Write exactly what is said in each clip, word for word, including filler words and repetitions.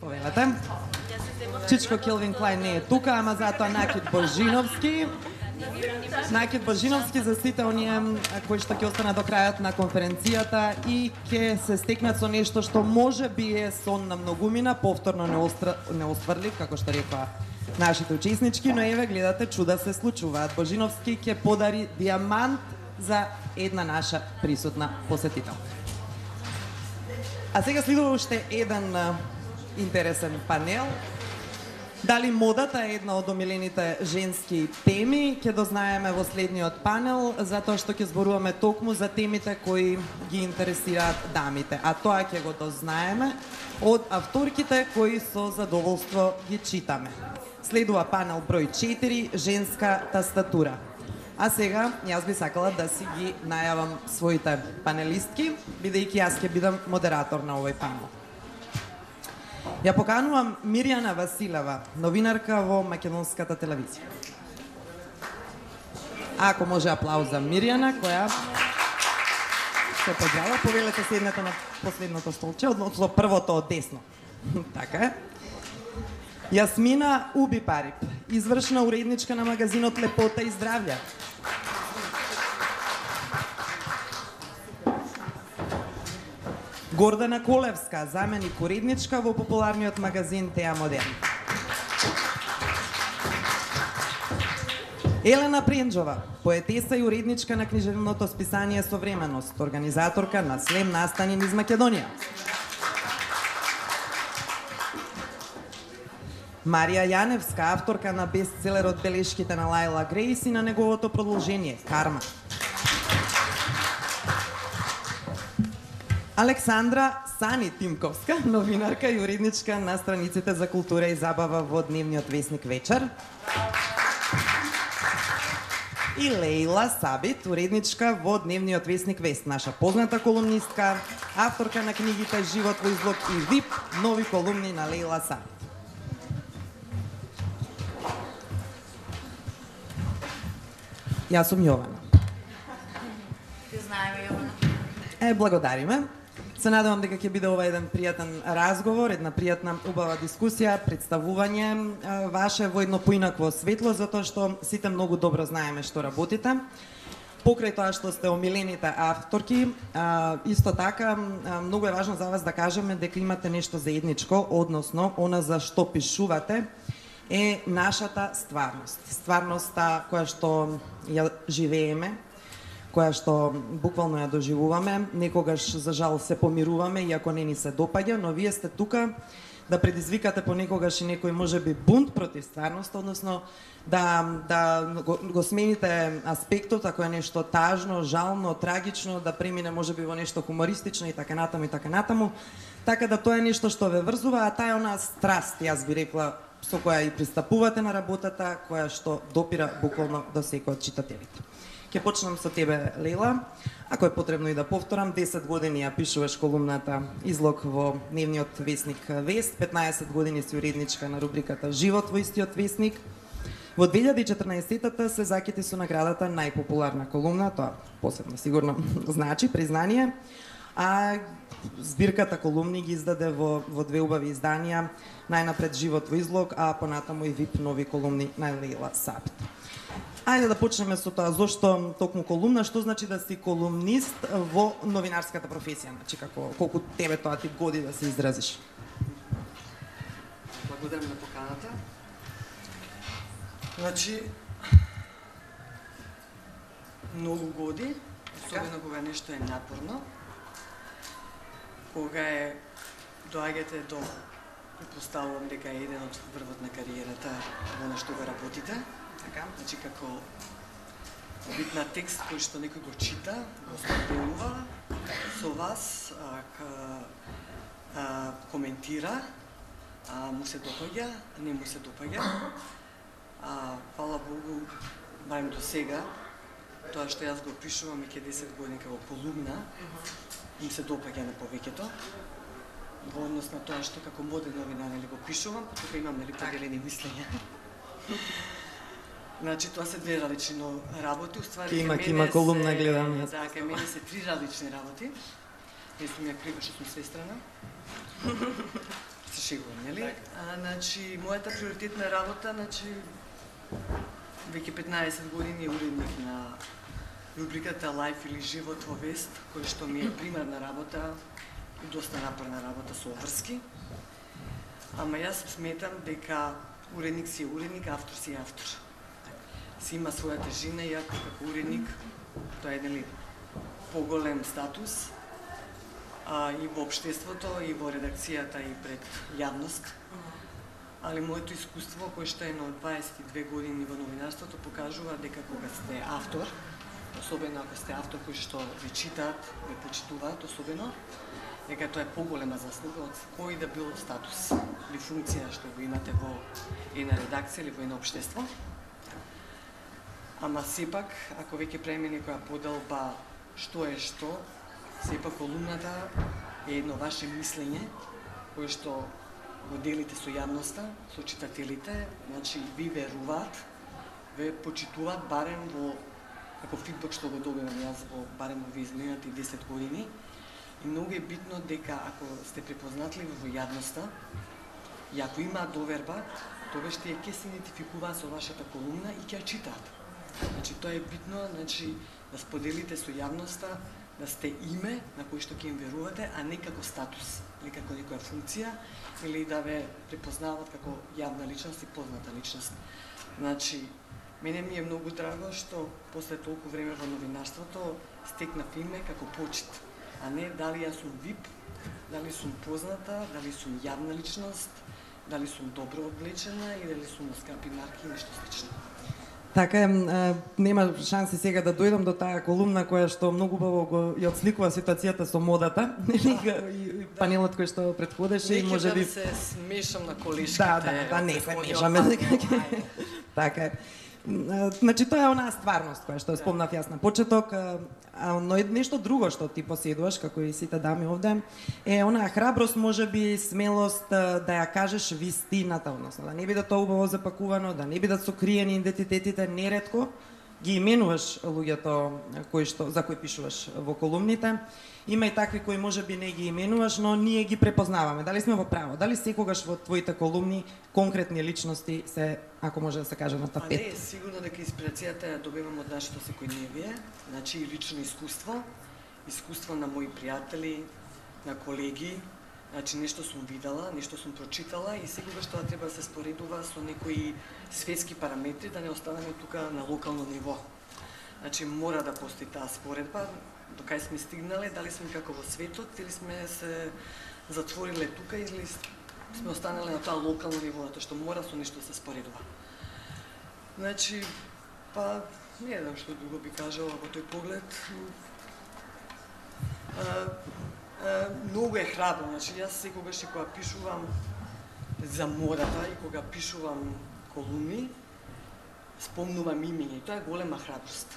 Повелете. Чичко Келвин Клајн не е тука, ама затоа Накит Божиновски. Накит Божиновски за сите оние кои што ќе останат до крајот на конференцијата и ќе се стекнат со нешто што може би е сон на многумина, повторно не, остра... не остварлив, како што рекоа нашите учеснички, но еве гледате, чуда се случуваат. Божиновски ќе подари диамант за една наша присутна посетител. А сега следува уште еден интересен панел. Дали модата е една од омилените женски теми, ќе дознаеме во следниот панел, затоа што ќе зборуваме токму за темите кои ги интересираат дамите. А тоа ќе го дознаеме од авторките кои со задоволство ги читаме. Следува панел број четири, женска тастатура. А сега, јас би сакала да си ги најавам своите панелистки, бидејќи јас ќе бидам модератор на овој панел. Ја поканувам Мирјана Василева, новинарка во македонската телевизија. Ако може аплауз за Мирјана, која се подрава, повелете седнете на последното столче, односно првото од десно. Така е. Јасмина Убипарип, извршна уредничка на магазинот Лепота и здравје. Гордана Колевска, заменик уредничка во популарниот магазин Теа Модерн. Елена Пренџова, поетеса и уредничка на книжевното списание Современост, организаторка на Слем настани низ Македонија. Марија Јаневска, авторка на бестселерот Белешките на Лајла Грейс и на неговото продолжение Карма. Александра Сани Тимковска, новинарка и уредничка на страниците за култура и забава во дневниот весник Вечер. И Лејла Сабит, уредничка во дневниот весник Вест, наша позната колумнистка, авторка на книгите Живот во излог и ВИП, нови колумни на Лејла Сабит. Јас сум Јована. Ти знаеме, Јована. Е, благодариме. Се надевам дека ќе биде ова еден пријатен разговор, една пријатна, убава дискусија, представување ваше во едно поинакво светло, затоа што сите многу добро знаеме што работите. Покрај тоа што сте омилените авторки, исто така, многу е важно за вас да кажеме дека имате нешто заедничко, односно, она за што пишувате е нашата стварност. Стварноста која што ја живееме, која што буквално ја доживуваме, некогаш за жал се помируваме, иако не ни се допаѓа, но вие сте тука да предизвикате понекогаш и некој можеби бунт против стварноста, односно да, да го, го смените аспектот, ако е нешто тажно, жално, трагично, да премине можеби во нешто хумористично и така натаму и така натаму. Така да тоа е нешто што ве врзува, а таа е она страст, јас би рекла, со која и пристапувате на работата, која што допира буквално до секој од читателите. Ќе почнам со тебе, Лейла. Ако е потребно и да повторам, десет години ја пишуваш колумната Излог во дневниот весник Вест, петнаесет години си уредничка на рубриката Живот во истиот весник. Во две илјади и четрнаесеттата се закити со наградата најпопуларна колумна, тоа посебно сигурно значи признание, а збирката колумни ги издаде во, во две убави изданија, најнапред Живот во излог, а понатаму и ВИП нови колумни на Лейла Сабит. Ајде да почнеме со тоа, зошто токму колумна, што значи да си колумнист во новинарската професија, значи како колку тебе тоа ти годи да се изразиш? Благодарам на поканата. Значи, многу годи, особено кога нешто е напорно, кога е доаѓате до, предпоставувам дека е еден од врвот на кариерата во нешто го работите. Така, значи како вид на текст кој што некој го чита, го споделува со вас, а, ка, а, коментира, а му се допаѓа, не му се допаѓа. А фала Богу, барем до сега, тоа што јас го пишувам и ке десет години како колумна, им се допаѓа на повеќето. Во однос на тоа што како моден новинар или го пишувам, тука имам нели поделени мислења. Значи тоа се две различни работи, уствари Кима, кима колумна гледам јас. Да, кај мене се три различни работи. Не сум ја крива што сум сестрана. се шегувам, нели? А, значи, мојата приоритетна работа, значи, веќе петнаесет години е уредник на рубриката Лајф или живот во Вест, кој што ми е примерна работа и доста напорна работа со обврски. Ама јас сметам дека уредник си е уредник, автор си е автор. Си има својата жена, иако како уредник, тоа е нели поголем статус, а, и во општеството, и во редакцијата, и пред јавност. Али моето искуство, кое што е на дваесет и две години во новинарството, покажува дека кога сте автор, особено ако сте автор кој што ви читаат, ви почитуваат особено, дека тоа е поголема заслуга од кој да бил статус или функција што го имате во една редакција или во едно општество. Ама сепак, ако веќе правиме некоја поделба што е што, сепак колумната е едно ваше мислење кое што го делите со јавноста, со читателите, значи ви веруваат, ве почитуваат барем во како фидбек што го добивам јас во барем во изминатите десет години. И многу е битно дека ако сте препознатливи во јавноста и ако има доверба, тогаш тие ќе се идентификуваат со вашата колумна и ќе ја читаат. Значи тоа е битно, значи да споделите со јавноста да сте име на кој што ќе им верувате, а не како статус или како некоја функција или да ве препознават како јавна личност и позната личност. Значи, мене ми е многу драго што после толку време во новинарството стекнав име како почит, а не дали јас сум вип, дали сум позната, дали сум јавна личност, дали сум добро облечена и дали сум на скапи марки и нешто слично. Така е, нема шанси сега да дојдам до таа колумна која што многу убаво го ја отсликува ситуацијата со модата, нели, и панелот кој што претходеше и можеби да се смешам на колешките. Да, да, да, не се мешаме. Така е. Значи тоа е онаа стварност која што спомнав јас на почеток, а но нешто друго што ти поседуваш како и сите дами овде е онаа храброст, можеби смелост да ја кажеш вистината, односно да не биде тоа убаво запакувано, да не бидат сокриени идентитетите, неретко ги именуваш луѓето кои што за кои пишуваш во колумните. Има и такви кои можеби не ги именуваш, но ние ги препознаваме. Дали сме во право? Дали секогаш во твоите колумни конкретни личности се, ако може да се каже, на тапет? А не, сигурно дека инспирацијата ја добивам од нашето секојдневие, значи и лично искуство, искуство на мои пријатели, на колеги, значи нешто сум видела, нешто сум прочитала и секогаш тоа треба да се споредува со некои светски параметри, да не останеме тука на локално ниво. Значи мора да постои таа споредба, до кај сме стигнале, дали сме како во светот или сме се затвориле тука или сме останале на тоа локално ниво, затоа што мора со нешто да се споредува. Значи, па не знам што друго би кажала во тој поглед. А, а, многу е храбро, значи јас секогаш и кога пишувам за модата и кога пишувам колумни, спомнувам имење, тоа е голема храброст.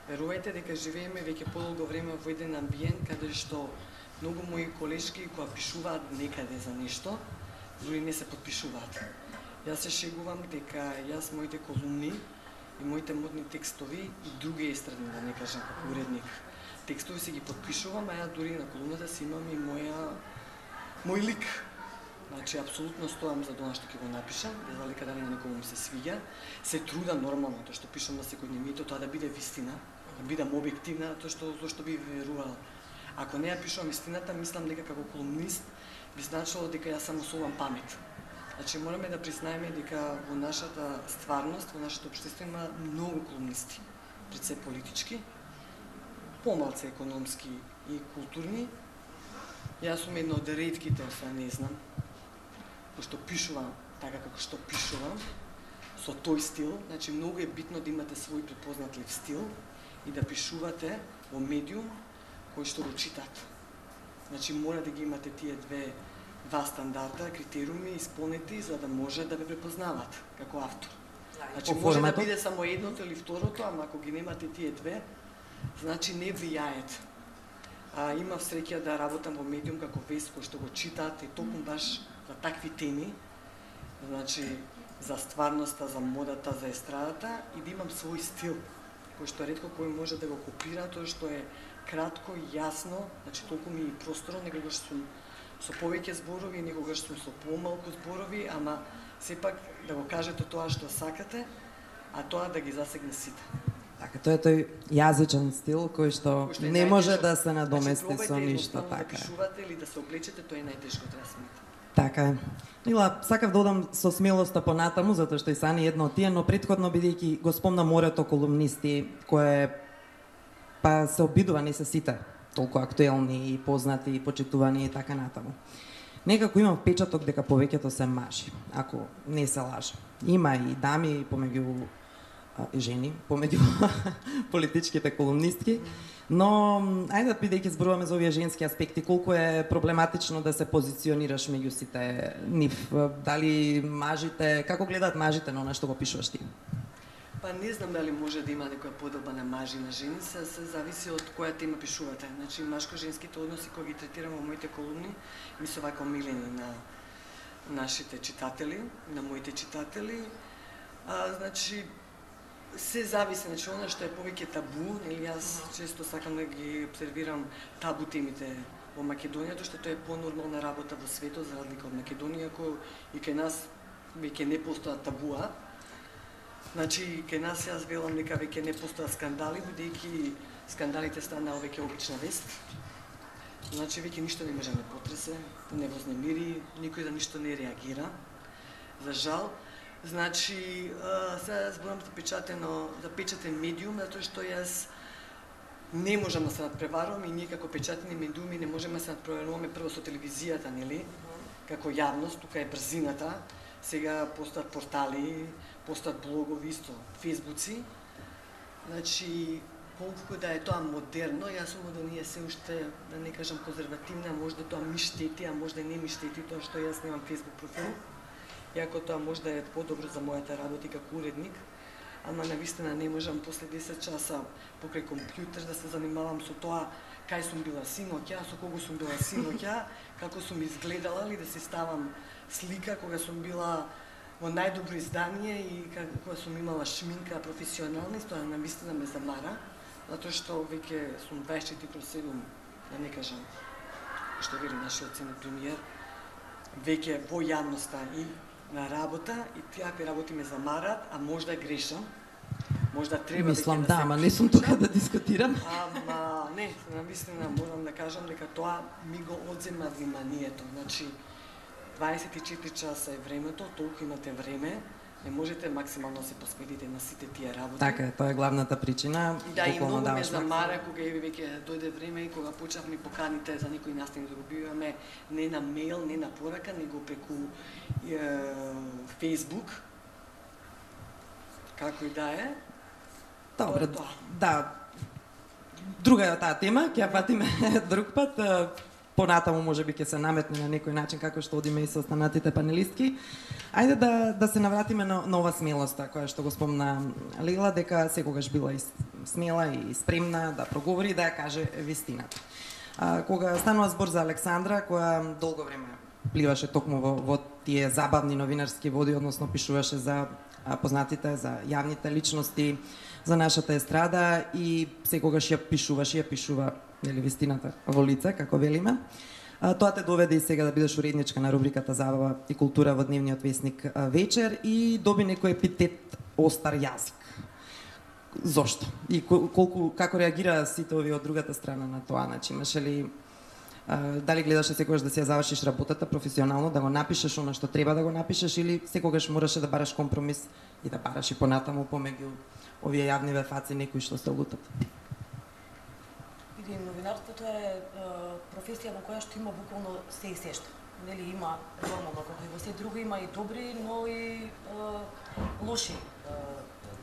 Верувајте дека живееме веќе подолго време во еден амбиент каде што многу мои колешки кога пишуваат некаде за нешто, дури не се подпишуваат. Јас се шегувам дека јас моите колумни и моите модни текстови и други естрадни, да не кажам како уредник, текстови си ги подпишувам, а ја дури на колумната си имам и моја мој лик. Значи, апсолутно стоам за тоа што ќе го напишам, без разлика дали на некому се свиѓа. Се трудам нормално, тоа што пишам на секојдневнието, тоа да биде вистина, да бидам објективна, тоа што зошто би верувала. Ако не ја пишувам истината, мислам дека како колумнист би значило дека јас само совам памет. Значи, мораме да признаеме дека во нашата стварност, во нашето општество има многу колумнисти, пред се политички, помалце економски и културни. Јас сум една од ретките, освен не знам, кој што пишувам така како што пишувам, со тој стил. Значи, многу е битно да имате свој препознатлив стил и да пишувате во медиум кој што го читат. Значи, мора да ги имате тие две два стандарда, критериуми исполнети за да може да ве препознават како автор. Значи, може да биде само едното или второто, ама ако ги немате тие две, значи не влијаат. А, имав среќа да работам во медиум како Вест, кој што го читаат и токму баш за такви теми, значи за стварноста, за модата, за естрадата и да имам свој стил, кој што ретко кој може да го копира, тоа што е кратко, јасно, значи толку ми просторно, некогаш сум со повеќе зборови, некогаш сум со помалку зборови, ама сепак да го кажете тоа што сакате, а тоа да ги засегне сите. Така, тоа е тој јазичен стил кој што Кој што е не може најтешко. да се надомести Значи, со пробајте ништо, едноставно така. Да пишувате или да се облечете, тоа е најтешко, треба смета. Така е. Мила, сакав да одам со смелоста понатаму, затоа што и Сани едно од тие, но претходно бидејќи го спомна морето колумнисти, кое па се обидува, не се сите толку актуелни и познати и почитувани и така натаму. Некако имам впечаток дека повеќето се мажи, ако не се лаже. Има и дами помеѓу а, и жени, помеѓу политичките колумнистки, но ајде бидејќи зборуваме за овие женски аспекти, колку е проблематично да се позиционираш меѓу сите нив, дали мажите, како гледаат мажите на она што го пишуваш ти? Па не знам дали може да има некоја поделба на мажи и на жени, се, се зависи од која тема пишувате. Значи, машко-женските односи кои ги третирам во моите колумни, ми се вака омилени на нашите читатели, на моите читатели. А, значи, се зависи, значи, она што е повеќе табу, нели, јас често сакам да ги обсервирам табу темите во Македонија, тоа што тоа е понормална работа во светот, за разлика од Македонија, кој и кај нас веќе не постојат табуа. Значи, кај нас јас велам дека веќе не постојат скандали, бидејќи скандалите станаа веќе обична вест. Значи, веќе ништо не може да не потресе, не вознемири, никој за ништо не реагира. За жал. Значи, сега зборам за печатено, за печатен медиум, затоа што јас не можам да се надпреварувам и ние како печатени медиуми не можеме да се надпреваруваме прво со телевизијата, нели? Како јавност, тука е брзината. Сега постојат портали, постојат блогови исто, фейсбуци. Значи, колку да е тоа модерно, јас сум да ние се уште, да не кажам конзервативна, можда тоа ми штети, а можда не ми штети, тоа што јас немам фейсбук профил. Иако тоа можда е подобро за мојата работа како уредник, ама навистина не можам после десет часа покрај компјутер да се занимавам со тоа кај сум била синоќа, со кого сум била синоќа, како сум изгледала, или да си ставам слика кога сум била во најдобро издание и кога сум имала шминка професионална, тоа навистина ме замара, затоа што веќе сум дваесет и четири кроз седум, да не кажам, што вели нашиот ценет премиер, веќе во јавноста и на работа и тие работи ме замарат, а можда грешам. Можда треба Мислам веќе да, се ама не сум тука да дискутирам. Ама не, навистина морам да кажам дека тоа ми го одзема вниманието. Значи, дваесет и четири часа е времето, толку имате време, не можете максимално да се посветите на сите тие работи. Така е, тоа е главната причина. И да, и буквално многу ме даваш замара кога е веќе дојде време и кога почнав ми поканите за некои настани да го биваме не на мејл, не на порака, него преку е, Facebook. Како и да е. Добре, Тоа. да. Друга е таа тема, ќе ја патиме друг пат. Понатаму можеби ќе се наметне на некој начин како што одиме и со останатите панелистки. Ајде да да се навратиме на, на ова смелоста која што го спомна Лила, дека секогаш била и смела и спремна да проговори и да ја каже вистината. А, кога станува збор за Александра, која долго време пливаше токму во, во тие забавни новинарски води, односно пишуваше за а, познатите, за јавните личности, за нашата естрада и секогаш ја пишуваше, ја пишува нели вистината во лице, како велиме. А, тоа те доведе и сега да бидеш уредничка на рубриката Забава и култура во дневниот весник а, Вечер и доби некој епитет остар јазик. Зошто? И колку како реагира сите овие од другата страна на тоа? Значи, имаше ли а, дали гледаше секогаш да си ја завршиш работата професионално, да го напишеш она што треба да го напишеш или секогаш мораше да бараш компромис и да бараш и понатаму помеѓу овие јавни вефаци некои што се лутат? Види, новинарството е, е професија во која што има буквално се и се што. Нели има нормално како и во се друго, има и добри, но и е, лоши е,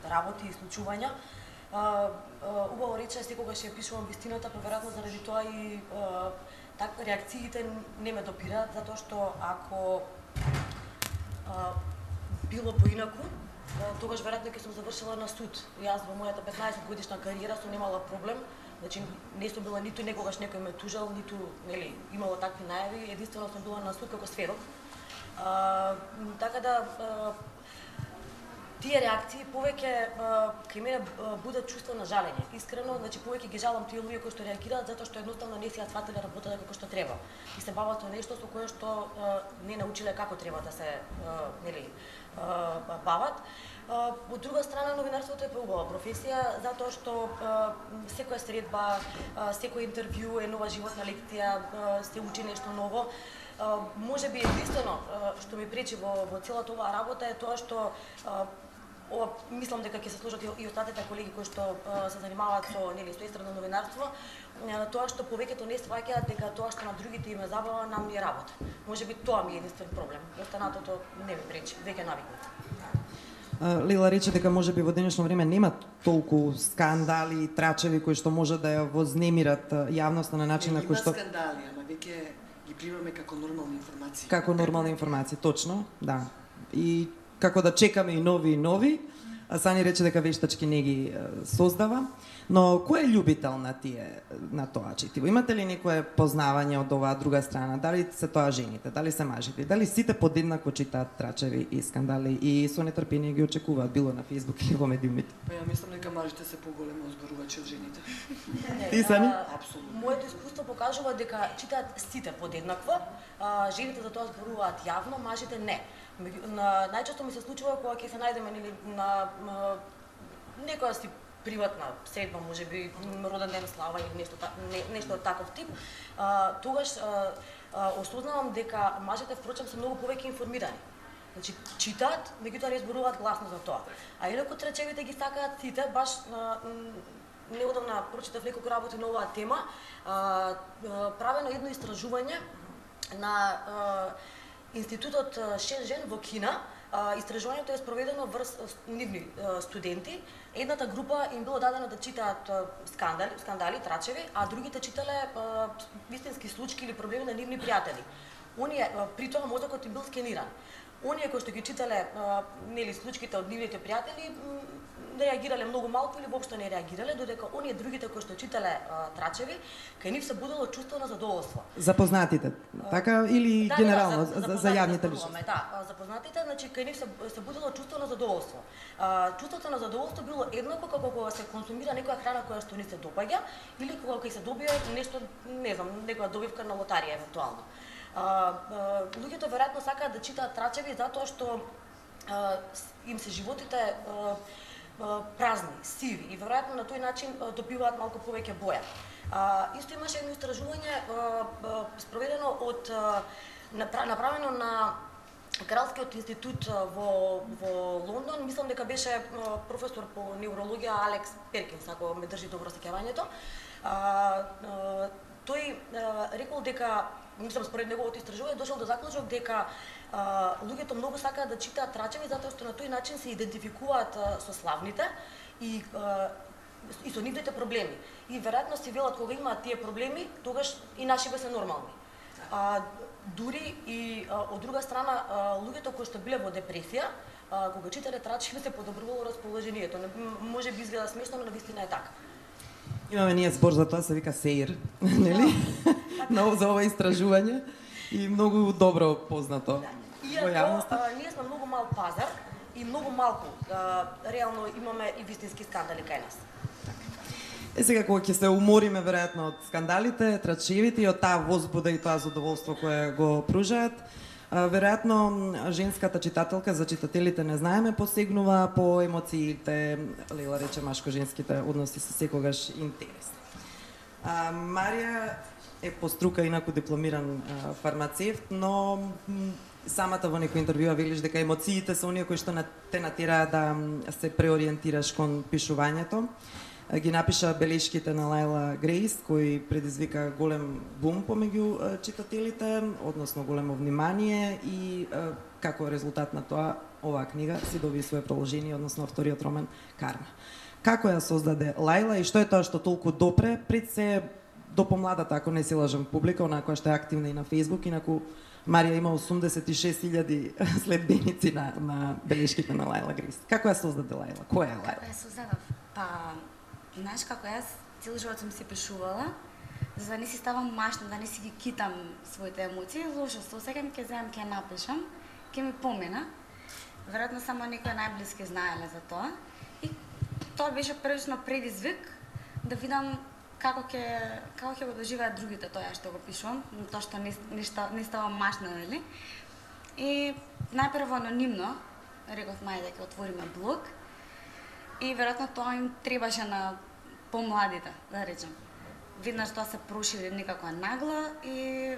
работи и случувања. Е, е, убаво рече секогаш ја пишувам вистината, поверојатно заради тоа и е, так реакциите не ме допираат, затоа што ако е, било поинаку, тогаш веројатно ќе сум завршила на суд. Јас во мојата петнаесет годишна кариера сум немала проблем. Значи не сум била ниту некогаш некој ме тужал, ниту нели имало такви најави, единствено сум била на суд како сведок. А, така да а, тие реакции повеќе кај мене будат чувство на жалење. Искрено, значи повеќе ги жалам тие луѓе кои што реагираат затоа што едноставно не си ја сватиле работата како што треба. И се бават со нешто со кое што не научиле како треба да се нели бават. Од друга страна, новинарството е поубава професија затоа што секоја средба, секој интервју е нова животна лекција, се учи нешто ново. Може би единствено што ми пречи во, во целата оваа работа е тоа што ова, мислам дека ќе се сложат и остатите колеги кои што се занимаваат со нели со естрадно новинарство, тоа што повеќето не сваќаат дека тоа што на другите им е забава, нам ни е работа. Може би тоа ми е единствен проблем. Останатото не ми пречи, веќе навикнат. Лила рече дека може би во денешно време нема толку скандали и трачеви кои што може да ја вознемират јавноста на начин на кој што има скандали, ама веќе ги примаме како нормални информации. Како нормални информации, точно, да. И како да чекаме и нови и нови, а Сани рече дека вештачки не ги создава. Но кој е љубител на тие на тоа четиво? Имате ли некое познавање од оваа друга страна? Дали се тоа жените, дали се мажите? Дали сите подеднакво читаат трачеви и скандали и со нетрпение ги очекуваат било на Facebook или во медиумите? Па ја мислам дека мажите се поголеми озборувачи од жените. Ти Сани? Апсолутно. Моето искуство покажува дека читаат сите подеднакво. А, жените за тоа зборуваат јавно, мажите не. На, најчесто ми се случува кога ќе се најдеме нели на, на некоја си приватна средба, може би роден ден, слава или нешто не, нешто од таков тип, а, тогаш а, а, осознавам дека мажите впрочем се многу повеќе информирани. Значи читаат, меѓутоа не зборуваат гласно за тоа. А инаку трачевите ги сакаат сите, баш а, неодамна прочитав неколку работи на оваа тема, а, а, правено едно истражување на а, Институтот шест жен во Кина. Истражувањето е спроведено врз нивни студенти. Едната група им било дадено да читаат скандали, скандали, трачеви, а другите читале вистински случаи или проблеми на нивни пријатели. Оние при тоа мозокот им бил скениран. Оние кои што ги читале нели случаите од нивните пријатели реагирале многу малку или воопшто не реагирале, додека оние другите кои што читале а, трачеви, кај нив се будело чувство на задоволство. Запознатите, така или да, генерално да, за, за, за јавните личности? Да, запознатите, значи кај нив се, се будело чувство на задоволство. А, чувството на задоволство било еднакво како кога се консумира некоја храна која што ни се допаѓа или кога ќе се добие нешто, не знам, некоја добивка на лотарија евентуално. А, а, луѓето веројатно сакаат да читаат трачеви затоа што а, им се животите а, празни, сиви и веројатно на тој начин добиваат малку повеќе боја. А, исто имаше едно истражување спроведено од направено на Кралскиот институт во во Лондон, мислам дека беше професор по неврологија Алекс Перкинс, ако ме држи добро сеќавањето. Тој рекол дека, мислам според неговото истражување, дошол до заклучок дека а, луѓето многу сакаат да читаат трачеви затоа што на тој начин се идентификуваат а, со славните и а, и со нивните проблеми. И веројатно си велат кога имаат тие проблеми, тогаш и нашиве се нормални. А, дури и а, од друга страна а, луѓето кои што биле во депресија, а, кога читале трачеви се подобрувало расположението. Може би изгледа смешно, но навистина е така. Имаме ние збор за тоа, се вика СЕИР, нели? Но за ова истражување и многу добро познато во јавноста. Иако ние сме многу мал пазар и многу малку а, реално имаме и вистински скандали кај нас. Е сега кога ќе се умориме веројатно од скандалите, трачевите и од таа возбуда и тоа задоволство кое го пружаат, веројатно женската читателка, за читателите не знаеме, посегнува по емоциите, Лила рече машко-женските односи се секогаш интересни. А, Марија е по струка инаку дипломиран а, фармацевт, но самата во некој интервјуа велиш дека емоциите се оние кои што те натераат да се преориентираш кон пишувањето. Ги напиша белешките на Лајла Грейс, кој предизвика голем бум помеѓу читателите, односно големо внимание и како резултат на тоа оваа книга си доби свое продолжение, односно вториот роман Карма. Како ја создаде Лајла и што е тоа што толку допре пред се до помладата, ако не се лажам, публика, онаа која што е активна и на Facebook, инаку Марија има осумдесет и шест илјади следбеници на, на белешките на Лајла Грейс. Како ја создаде Лајла? Која е Лајла? Како ја создадов? Па, знаеш како јас цел живот сум си пишувала, за да не си ставам машна, да не си ги китам своите емоции, лошо се осеќам, ќе земам, ќе напишам, ќе ми помина. веројатно само некои најблиски знаеле за тоа. И тоа беше првично предизвик да видам како ќе како ќе го доживеат другите тоа што го пишувам, тоа што не нешто не става машна, нели? И најпрво анонимно реков мај дека отвориме блог и веројатно тоа им требаше на помладите, да речем. Виднаш тоа се прошири некако нагла и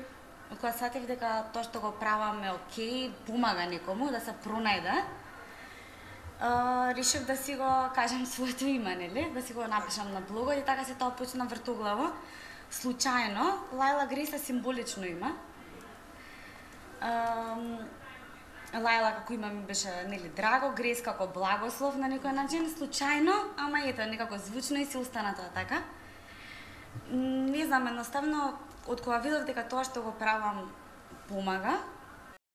кога сатив дека тоа што го правам е окей, помага некому да се пронајде, решив да си го кажам своето име, нели? Да си го напишам на блогот и така се тоа почна вртоглаво. Случајно, Лајла Грейс е символично име. Лајла како име ми беше, нели, драго, Грейс како благослов на некој начин, случајно, ама ето, некако звучно и си остана тоа така. Не знам, едноставно, од кога видов дека тоа што го правам помага,